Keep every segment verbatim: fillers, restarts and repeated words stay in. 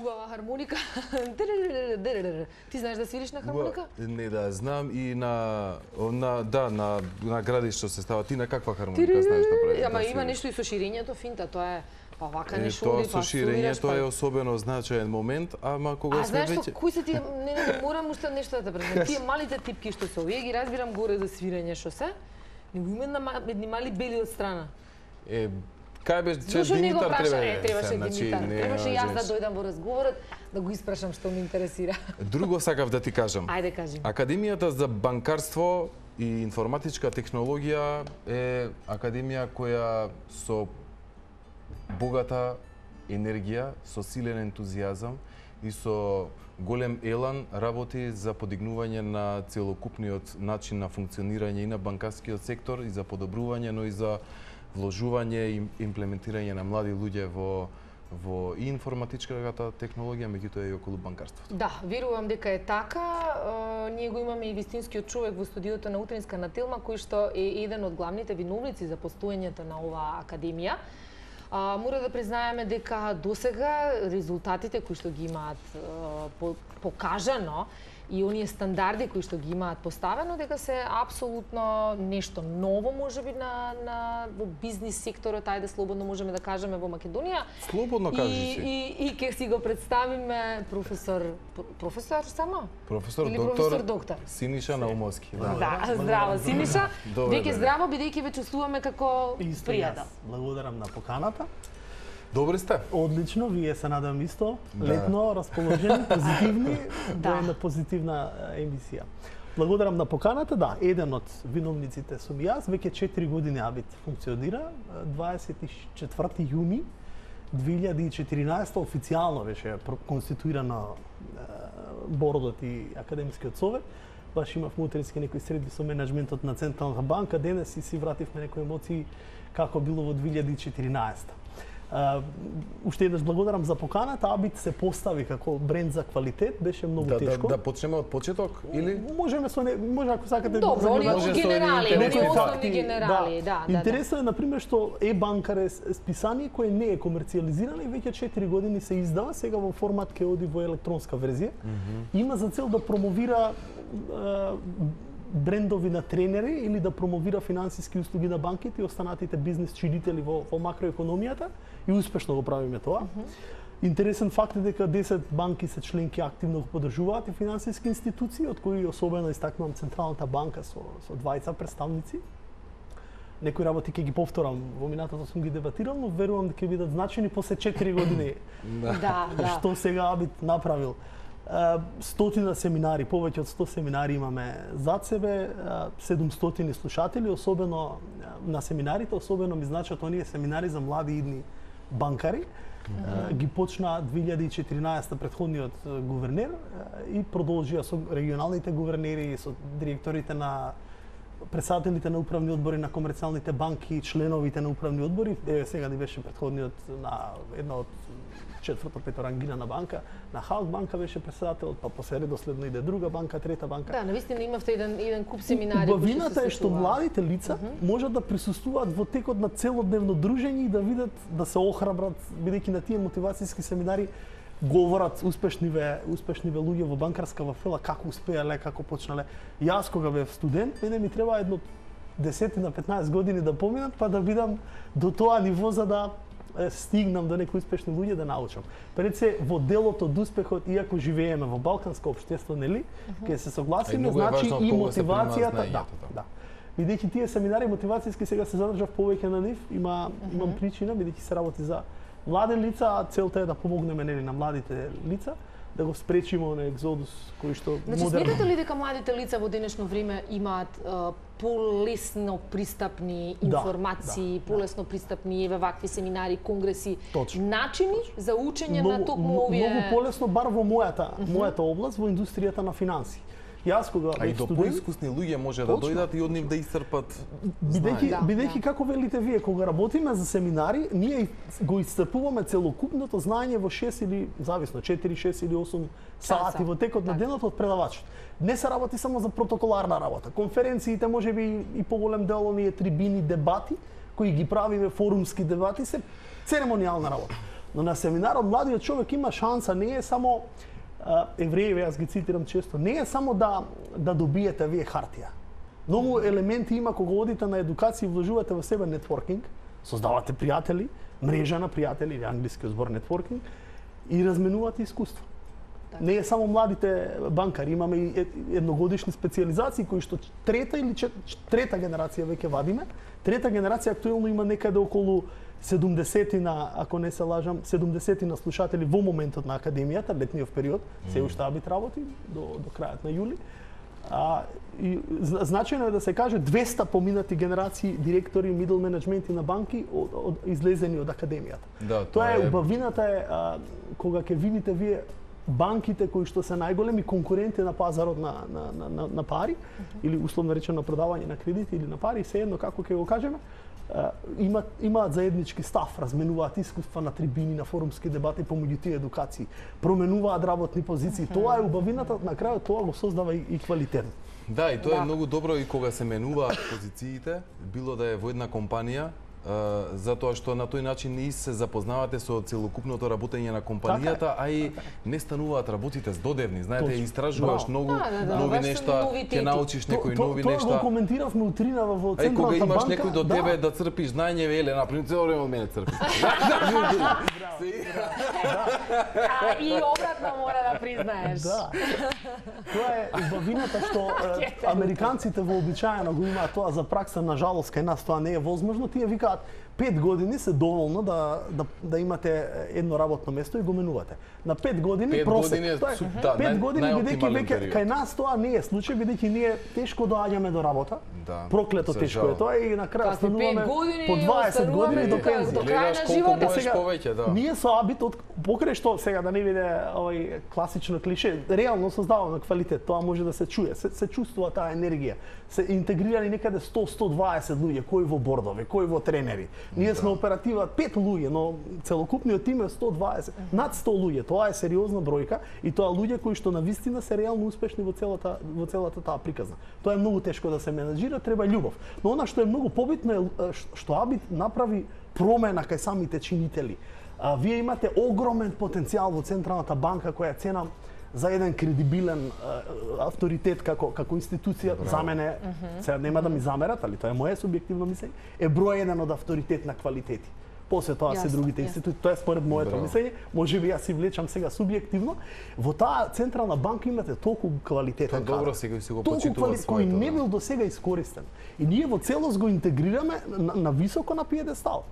убава хармоника. Ти знаеш да свириш на хармоника? Не, да, знам и на на да, на на градиште се става. Ти на каква хармоника знаеш да правиш? Ама има нешто и со ширењето финта, тоа е па вака не шури, па со ширењето е особено значаен момент, ама кога сме веќе... А знаеш кои се тие, не, не, морам уште нешто да те презентам. Тие малите типки што се овие ги разбирам горе за свирење што се, него има една едни мали бели од страна. Е, кај беше че Димитар требаше? Е, требаше Димитар. Требаше јас да дојдам во разговорот да го испрашам што ме интересира. Друго сакав да ти кажам. Ајде кажи. Академијата за банкарство и информатичка технологија е академија која со богата енергија, со силен ентузијазам и со голем елан работи за подигнување на целокупниот начин на функционирање и на банкарскиот сектор и за подобрување, но и за вложување и имплементирање на млади луѓе во во и информатичката технологија, меѓутоа и околу банкарството. Да, верувам дека е така. Ние го имаме и вистинскиот човек во студиото на Утринска на Телма, кој што е еден од главните виновници за постоењето на оваа академија. А, мора да признаеме дека досега резултатите кои што ги имаат по, покажано и оние стандарди кои што ги имаат поставено, дека се апсолутно нешто ново можеби на на во бизнис секторот, ајде слободно можеме да кажеме во Македонија. Слободно кажи си. И и ќе си го представиме професор професор само? Професор Или доктор, професор доктор Синиша Наумовски. Да, да, здраво Синиша. Веќе здраво бидејќи ве чувствуваме како пријател. Благодарам на поканата. Добри сте. Одлично, вие се надам исто. Да. Летно, расположени, позитивни, да е на позитивна емисија. Благодарам на поканата, да, еден од виновниците сум јас, веќе четири години Абит функционира. дваесет и четврти јуни две илјади и четиринаесета официјално беше конституирано бордот и академскиот совет. Баш имав утрински некои средби со менеджментот на Централната банка, денес и си вративме некои емоции како било во две илјади и четиринаесета. Uh, уште еднаш благодарам за поканата. Абит се постави како бренд за квалитет, беше многу да, тешко. Да, да почнеме од почеток или можеме со не, може ако сакате добро, оние генерали, оние основни генерали, да, да. Интересно е на пример што е-банкар е списание кое не е комерцијализирано и веќе четири години се издава, сега во формат ке оди во електронска верзија. Mm -hmm. Има за цел да промовира uh, брендови на тренери или да промовира финансиски услуги на банките и останатите бизнис чинители во, во макроекономијата и успешно го правиме тоа. Mm -hmm. Интересен факт е дека десет банки се членки активно го поддржуваат и финансиски институции, од кои особено истакнувам Централната банка со, со двајца представници. Некои работи ќе ги повторам, во минатото сум ги дебатирал, но верувам дека ќе бидат значени после четири години. Да, да. Што сега Абит направил. Стотина семинари, повеќе од сто семинари имаме зад себе, седумстотини слушатели, особено на семинарите, особено ми значат оние семинари за млади идни банкари. Mm-hmm. Ги почна две илјади и четиринаесета претходниот гувернер и продолжија со регионалните гувернери, со директорите на председателите на управни одбори на комерцијалните банки, членовите на управни одбори. Еве сега ни беше претходниот на една од четврта петорангирана банка, на Халк банка беше председател, па после редоследно иде друга банка, трета банка. Да, навистина имавте еден еден куп семинари. Убавината е што младите лица uh -huh. можат да присуствуваат во текот на целодневно дружење и да видат, да се охрабрат, бидејќи на тие мотивацијски семинари говорат успешниве успешниве луѓе во банкарска вафела како успеале, како почнале. Јас кога бев студент, мене ми треба едно десет на петнаесет години да поминат, па да бидам до тоа ниво за да стигнам до некои успешни луѓе да научам. Пред се во делот од успехот, иако живееме во балканско општество, нели, ќе uh -huh. се согласиме, значи и мотивацијата, да, да. Бидејќи тие семинари мотивацијски сега се задржав повеќе на нив, има uh -huh. имам причина, бидејќи се работи за млади лица, а целта е да помогнеме нели на младите лица да го спречиме на екзодус кој што значи, модерно. Сметате ли дека младите лица во денешно време имаат uh, полесно пристапни информации, да, да, полесно да. пристапни еве вакви семинари, конгреси, Точно. начини за учење много, на токму овие многу полесно бар во мојата uh -huh. мојата област, во индустријата на финанси. Јас кога а и до поискусни луѓе може Точно. да дојдат и од нив да исцрпат. Бидејќи да, бидејќи да. како велите вие, кога работиме за семинари, ние го исцрпуваме целокупното знаење во шест или зависно четири, шест или осум сати во текот на денот од предавачот. Не се работи само за протоколарна работа. Конференциите можеби и поголем дел оние трибини, дебати кои ги правиме, форумски дебати, се церемонијална работа. Но на семинарот младиот човек има шанса, не е само евреи, јас ги цитирам често, не е само да да добиете вие хартија. Многу елементи има кога одите на едукација и вложувате во себе нетворкинг, создавате пријатели, мрежа на пријатели, или англискиот збор нетворкинг, и разменувате искуство. Не е само младите банкари, имаме и едногодишни специализации кои што трета или чет, трета генерација веќе вадиме. Трета генерација актуелно има некаде околу седумдесетина, ако не се лажам, седумдесетина слушатели во моментот на академијата, летниот период, се уште Абит работи до до крајот на јули. А, и значајно е да се каже двеста поминати генерации директори, мидл менеджменти на банки од, од излезени од академијата. Да, тоа е убавината е а, кога ќе видите вие банките кои што се најголеми конкуренти на пазарот на на на на, на пари uh -huh. или условно речено на продавање на кредити или на пари, сеедно како ќе го кажеме, имаат имаат заеднички став, разменуваат искуства на трибини, на форумски дебати помеѓу тие едукации, променуваат работни позиции. Тоа е убавината, на крајот тоа го создава и, и квалитет. Да, и тоа да. е многу добро и кога се менуваат позициите, било да е во една компанија, Uh, затоа што на тој начин и се запознавате со целокупното работење на компанијата, а и не стануваат работите здодевни. Знаете, Точно. истражуваш многу да, да, нови да, нешта, ќе научиш некои нови тоа нешта. Тоа го коментиравме утринава во Централната банка. Кога имаш некој до да. тебе да црпиш знаење, веле, например, цело време од мене црпиш. А и обратно мора да признаеш. Да. Тоа е убавината што американците вообичаено го имаат тоа за пракса, на жалост кај нас тоа не е возможно. Тие викаат пет години се доволно да, да, да имате едно работно место и го менувате. На пет години пет просек. Години е, тоа е, да, пет нај, години бидејќи веќе кај нас тоа не е случај, бидејќи ние тешко доаѓаме до работа. Да, проклето тешко е тоа и на крај стануваме по дваесет години до пензија. До крај на животот. Сега, повеќе, да. Ние со Абит од покрај што сега да не биде овој класично клише, реално создаваме квалитет. Тоа може да се чуе, се, се чувствува таа енергија. Се интегрирани некаде сто до сто дваесет луѓе, кои во бордови, кои во тренери. Ние да. сме оператива пет луѓе, но целокупниот тим е сто дваесет, над сто луѓе. Тоа е сериозна бројка и тоа луѓе кои што навистина се реално успешни во целата во целата таа приказна. Тоа е многу тешко да се менаџира, треба љубов. Но она што е многу побитно е што Абит направи промена кај самите чинители. А, вие имате огромен потенцијал во Централната банка која е цена за еден кредибилен а, авторитет како како институција. Браво. За мене, uh -huh. сега нема да ми замерат, али тоа е моје субјективно мислење, е број еден од авторитет на квалитети. После тоа се другите институции, тоа е според моето мислење, може би јас си влечам сега субјективно. Во таа Централна банка имате толку квалитетен кадар. Добро, сега си го толку почитува кој не бил до сега искористен. И ние во целост го интегрираме на, на високо на пиедестал.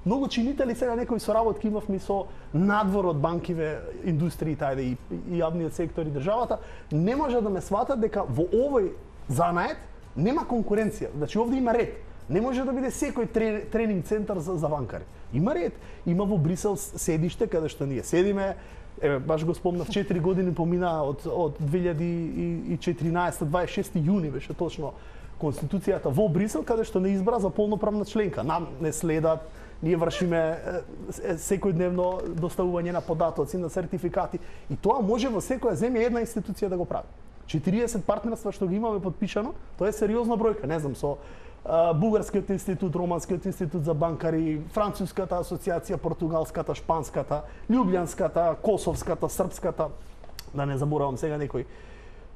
Многу чинители сега некои соработки имавме со надвор од банкиве, индустриите, ајде и, и јавниот сектор и државата, не може да ме сватат дека во овој занает нема конкуренција. Значи овде има ред. Не може да биде секој тренинг центар за, за банкари. Има ред. Има во Брисел седиште каде што ние седиме. Еве баш го спомнав, четири години помина од од две илјади и четиринаесета дваесет и шести јуни беше точно Конституцијата во Брисел, каде што не избра за полноправна членка. Нам не следат. Ние вршиме секојдневно доставување на податоци, на сертификати и тоа може во секоја земја една институција да го прави. четириесет партнерства што ги имаме подпишано, тоа е сериозна бројка, не знам, со а, Бугарскиот институт, Романскиот институт за банкари, Француската асоциација, Португалската, Шпанската, Љубљанската, Косовската, Српската, да не заборавам сега некој.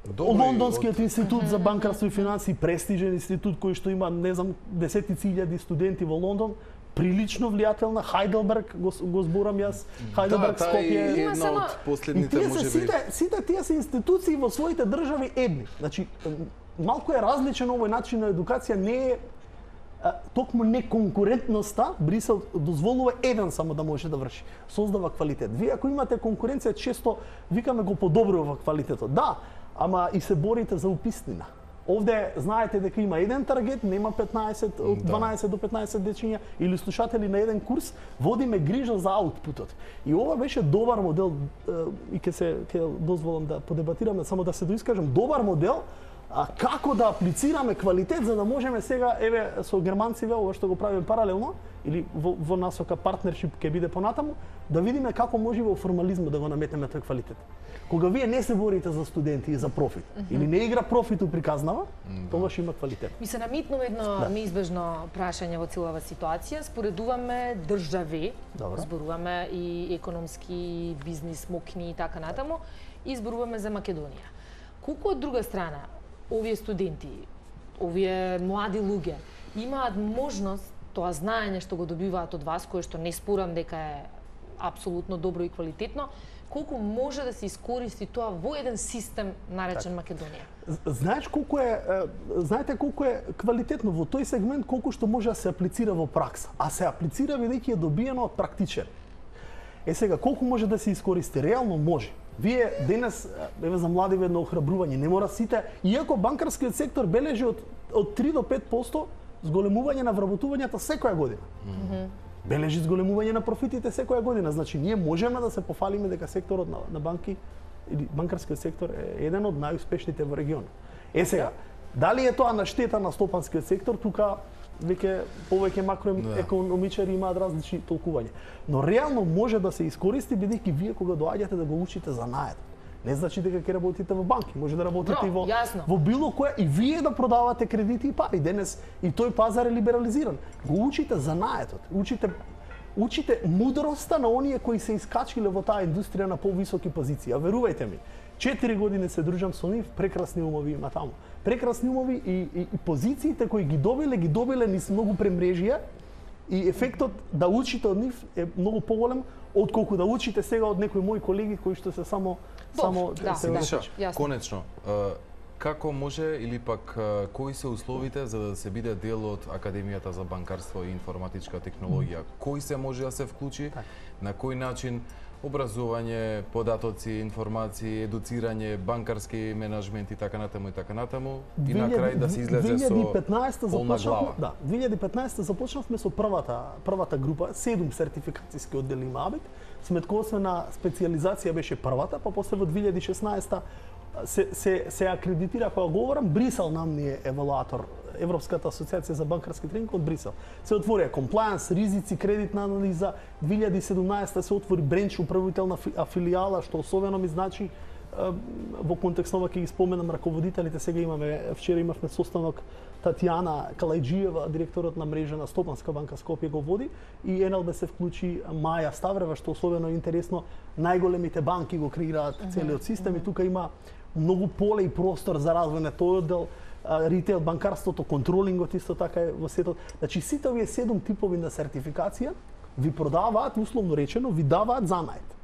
Добри, Лондонскиот од... институт за банкарство и финансии, престижен институт кој што има, не знам, десетици илјади студенти во Лондон, прилично влијателна, Хајделберг, го, го зборам јас, Хајделберг, да, Скопје. Да, една само... од последните и може би. Сите, сите тие се институции во своите држави едни. Значи, малку е различен овој начин на едукација, не е а, токму неконкурентноста, Брисел дозволува еден само да може да врши. Создава квалитет. Вие ако имате конкуренција, често викаме го подобрува квалитетот. Да, ама и се борите за уписнина. Овде знаете дека има еден таргет, нема петнаесет, од дванаесет до петнаесет дечиња или слушатели на еден курс, водиме грижа за аутпутот. И ова беше добар модел и ќе се ќе дозволам да подебатираме, само да се доискажам, добар модел а како да аплицираме квалитет за да можеме сега еве со германците ова што го правиме паралелно или во, во насока партнершип ќе биде понатаму, да видиме како може во формализмот да го наметнеме тој квалитет. Кога вие не се борите за студенти и за профит, mm -hmm. или не игра профит у приказнава, mm -hmm. тогаш има квалитет. Ми се намитнува едно да. неизбежно прашање во целава ситуација. Споредуваме држави, Добре. зборуваме и економски, и бизнис, мокни и така натаму, и зборуваме за Македонија. Колку од друга страна, овие студенти, овие млади луѓе, имаат можност, тоа знаење што го добиваат од вас, кое што не спорам дека е апсолутно добро и квалитетно, колку може да се искористи тоа во еден систем наречен так. Македонија? Знаеш колку е, знаете колку е квалитетно во тој сегмент, колку што може да се аплицира во пракса, а се аплицира бидејќи е добиено од практичен. Е сега, колку може да се искористи? Реално може. Вие денес, еве за млади едно охрабрување, не мора сите, иако банкарскиот сектор бележи од, од три до пет проценти зголемување на вработувањата секоја година. Mm -hmm. Бележи зголемување на профитите секоја година. Значи, ние можеме да се пофалиме дека секторот на, на банки или банкарскиот сектор е еден од најуспешните во регионот. Е сега, дали е тоа на штета на стопанскиот сектор, тука веќе повеќе макроекономичари имаат различни толкувања. Но реално може да се искористи бидејќи вие кога доаѓате да го учите занаед. Не значи дека ќе работите во банки, може да работите no, и во, јасно. во било која и вие да продавате кредити и пари. Денес и тој пазар е либерализиран. Го учите занаетот, учите учите мудроста на оние кои се искачиле во таа индустрија на повисоки позиции. А верувајте ми, четири години се дружам со нив, прекрасни умови има таму. Прекрасни умови и, и, и позициите кои ги добиле, ги добиле низ многу премрежија и ефектот да учите од нив е многу поголем отколку да учите сега од некои мои колеги кои што се само Бов, само да, се да, конечно, како може или пак кои се условите за да се биде дел од Академијата за банкарство и информатичка технологија? Кој се може да се вклучи? Так. На кој начин? Образување, податоци, информации, едуцирање, банкарски менеджмент и така натаму и така натаму и на крај да се излезе со полна глава. Да, две илјади и петнаесета започнавме со првата првата група, седум сертификацијски оддели има АБИК. Сметкосвена специјализација беше првата, па после во две илјади и шеснаесета се се се акредитира, кога говорам, Брисел нам ни е евалуатор, Европската асоциација за банкарски тренинг од Брисел. Се отворија комплајанс, ризици, кредитна анализа. две илјади и седумнаесета се отвори бренч управителна филијала, што особено ми значи во контекст на ова ќе ги споменам раководителите. Сега имаме, вчера имавме состанок, Татјана Калајджиева, директорот на мрежа на Стопанска банка Скопје го води, и ен ел би се вклучи Маја Ставрева, што особено интересно, најголемите банки го креираат целиот систем и тука има многу поле и простор за развој на тој оддел, ритейл банкарството, контролингот исто така е во сетот. Значи сите овие седум типови на сертификација ви продаваат, условно речено, ви даваат занаед.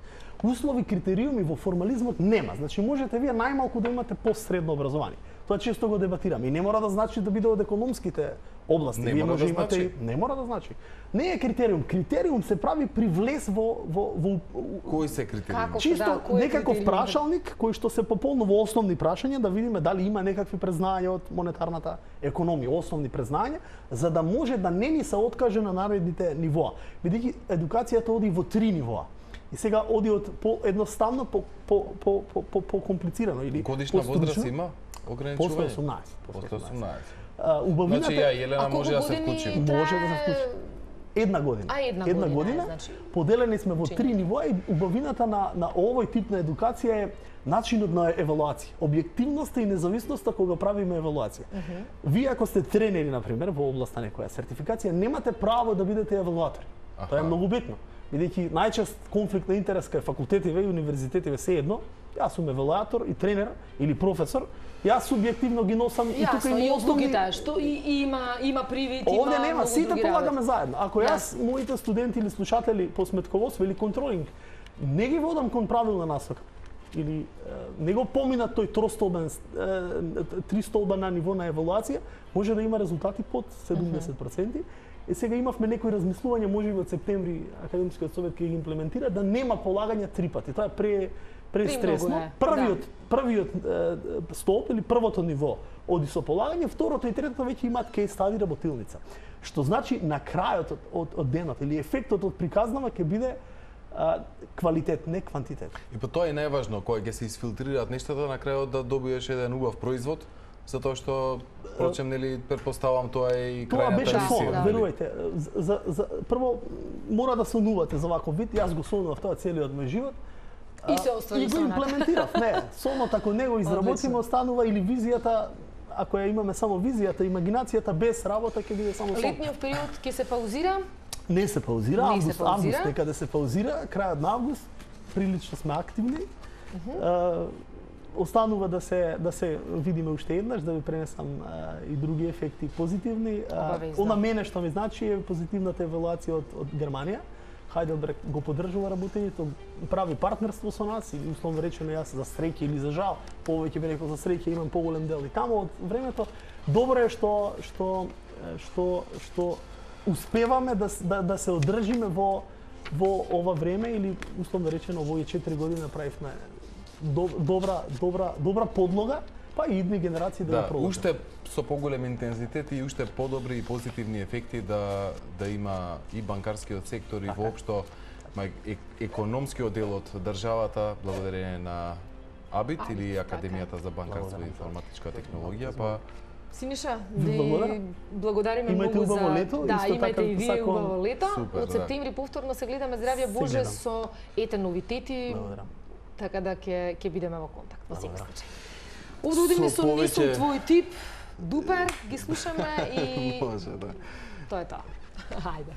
Услови, критериуми во формализмот нема. Значи можете вие најмалку да имате постсредно образование. Тоа често го дебатираме и не мора да значи да биде од економските области. Не вие мора може да имате значи. Не мора да значи. Не е критериум. Критериум се прави при влез во во во Кои се критериуми? Како? чисто Да, кој е некаков критериум? прашалник кој што се пополнува во основни прашања, да видиме дали има некакви презнања од монетарната економија, основни презнања, за да може да не ни се откаже на наредните нивоа. Бидејќи едукацијата оди во три нивоа. И сега оди од по едноставно по по по по по, по комплицирано или годишна возраст има ограничување? После осумнаесет. После осумнаесет. А, убавината Значи ја Елена може да се вклучи. Може да се вклучи. Една година. А, една, една година, година. е, значи. Поделени сме во три нивоа и убавината на на овој тип на едукација е начинот на евалуација. Објективноста и независноста кога правиме евалуација. Uh -huh. Вие ако сте тренери на пример во област на некоја сертификација, немате право да бидете евалуатори. Аха. Тоа е многу битно. Бидејќи најчест конфликт на интерес кај факултетиве и универзитетиве се едно, јас сум евалуатор и тренер или професор, јас субјективно ги носам Јасно, и тука има и основни... одлуките, што и, и има има привид, има Овде нема, многу сите други полагаме работи. заедно. Ако Да. јас, моите студенти или слушатели по сметководство или контролинг, не ги водам кон правилна насока, или е, не го поминат тој тростолбен, е, тристолбена ниво на евалуација, може да има резултати под седумдесет проценти. И сега имавме некои размислувања, може би од септември Академскиот совет ќе ги имплементира, да нема полагање три пати. Тоа е пре престресно. Премногу е, Првиот да. првиот е, столб или првото ниво оди со полагање, второто и третото веќе имаат кейс стади работилница. Што значи на крајот од, од, од денот или ефектот од приказнава ќе биде а, квалитет, не квантитет. И по тоа е најважно, кога ќе се изфилтрираат нештата, на крајот да добиеш еден убав производ, затоа што, впрочем, нели, предпоставам тоа е и Тоа крајната беше мисија. сон, нели? верувајте. За, за, прво, мора да сонувате за ваков вид, јас го сонував тоа целиот мој живот. И се оствари и го сонат. имплементирав. Не, сонот ако не го изработиме, останува или визијата, ако ја имаме само визијата, имагинацијата без работа ќе биде само сон. Летниот период ќе се паузира? Не се паузира, Не август, се паузира. август некаде се паузира, крајот на август, прилично сме активни. Uh -huh. Останува да се да се видиме уште еднаш, да ви пренесам а, и други ефекти позитивни. Обавезно. Она мене што ми значи е позитивната евалуација од, од Германија. Heidelberg го поддржува работењето, прави партнерство со нас или условно речено јас за среќа или за жал, повеќе би рекол за среќа имам поголем дел и таму од времето. Добро е што што што што успеваме да да, да се одржиме во во ова време или условно речено во овие четири години направивме добра добра добра подлога, па и идни генерации да, да го продолжат. Уште со поголем интензитет и уште подобри и позитивни ефекти да да има и банкарскиот сектор и воопшто е, економскиот дел од државата благодарение на АБИТ или Академијата за банкарство и информатичка технологија, па Синиша, Ви благодарам. благодариме Имајте многу за убаво лето, да, исто имајте така и вие сакувам- убаво лето. Супер, Од да. септември повторно се гледаме здравје Се Боже гледам. со ете новитети. Благодарам. Така да ќе ќе бидеме во контакт во секој Благодарам. случај. Овде одиме Со со не сум повеќе- твој тип, Дупер, ги слушаме и може да. тоа е тоа. Хајде.